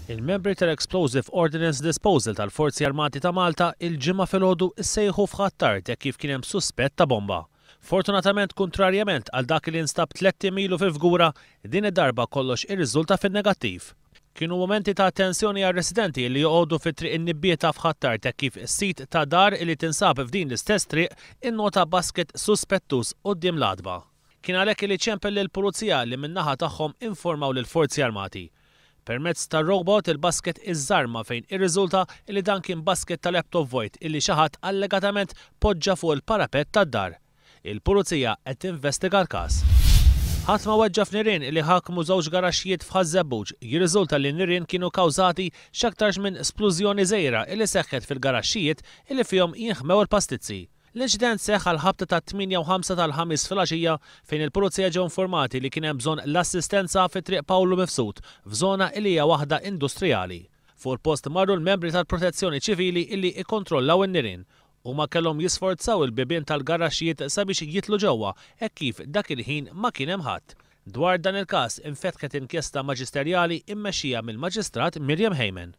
Il-membri tal-Explosive Ordnance Disposal tal-Forzi Armati ta' Malta il-Ġimgħa filgħodu issejħu f'Ħ'Attard hekk kif kien hemm suspett ta' bomba. Fortunatament kuntrarjament għal dak li instab tlett ilu fil-Fgura, din id-darba kollox irriżulta fin-negattiv. Kienu mumenti ta' tensjoni għar-residenti li joqogħdu fi Triq in-Nibbieta f'Ħ'Attard hekk kif is-sid ta' dar li tinsab f'din l-istess triq innota basket suspettuż quddiem l-għatba. Kien għalhekk li ċempel lill-Pulizija li min-naħa tagħhom informaw lill-Forzi Armati. Permezz tar-robot il-basket iżżarma fejn irriżulta li dan kien basket ta' laptop vojt illi xi ħadd allegatament poġġa fuq il-parapett tad-dar. Il-Pulizija qed tinvestiga l-każ. Ħadd ma weġġa' f'nirien li ħakmu żewġ garaxxijiet f'Ħaż-Żebbuġ. Jirriżulta li n-nirien kienu kawżati x'aktarx minn splużjoni żgħira illi seħħet fil-garaxxijiet illi fihom jinħmew il-pastizzi. L-inċident seħħ għall-ħabta tat-tmienja u ħamsa tal-Ħamis filgħaxija fejn il-Pulizija ġew informati li kien hemm bżonn l-assistenza fi Triq Pawlu Mifsud, f'żona li hija waħda industrijali. Fuq il-post marru l-membri tal-Protezzjoni Ċivili illi ikkontrollaw in-nirien. Huma kellhom jisforzaw il-bibien tal-garaxxijiet sabiex jidħlu ġewwa hekk kif dak il-ħin ma kien hemm ħadd. Dwar dan il-każ infetħet inkjesta maġisterjali mmexxija mill-Maġistrat Miriam Hayman.